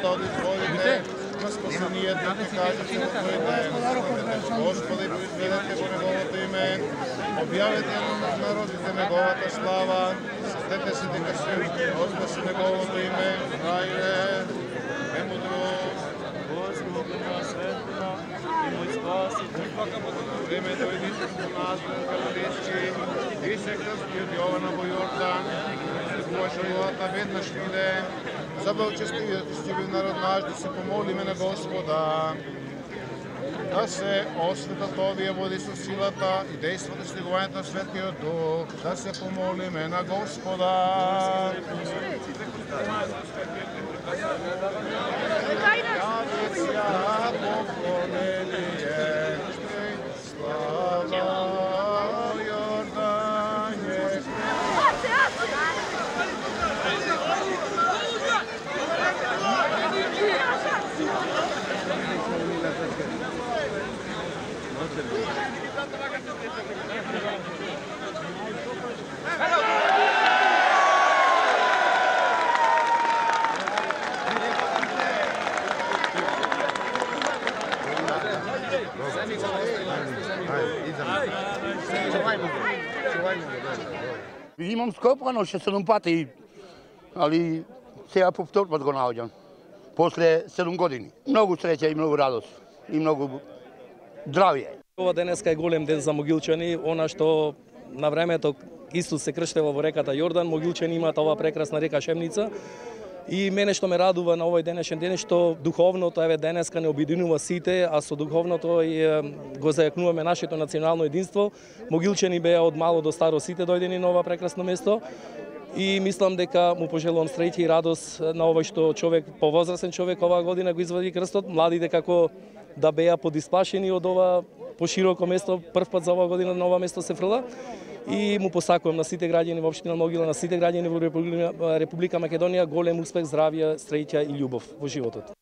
да одизволите на спасението и кажете во тој ден. Господи, произведете во неговото име, објавете на народите неговата слава, сетете се дека се вознесе неговото име, Хајле, премудро, Господи на светлина и мој спасител. Време дојдите со нас во Галилејски и се крсти од Јована во Јордан, Божа водата веднаш иде, забелчестивиот народ наш да се помолиме на Господа, да се осветат овие води со силата и дејството слегувањето на Светиот Дух, да се помолиме на Господа. Имам скопано 6-7 пати, али сега повторпат го наоѓам. После 7 години. Многу среќа и многу радост и многу здравје. Ова денеска е голем ден за Могилчани, она што на времето Исус се крштева во реката Јордан, Могилчани имаат оваа прекрасна река Шемница. И мене што ме радува на овој денешен ден што духовното еве денеска не обединува сите, а со духовното го зајакнуваме нашето национално единство. Могилчани беа од мало до старо сите дојдени на ова прекрасно место. И мислам дека му пожелувам среќа и радост на овој што човек, повозрасен човек оваа година го извади крстот, младите како да беа подисплашени од ова пошироко место, првпат за оваа година на ова место се фрла. И му посакувам на сите граѓани во општина Могила, на сите граѓани во Република Македонија голем успех, здравје, среќа и љубов во животот.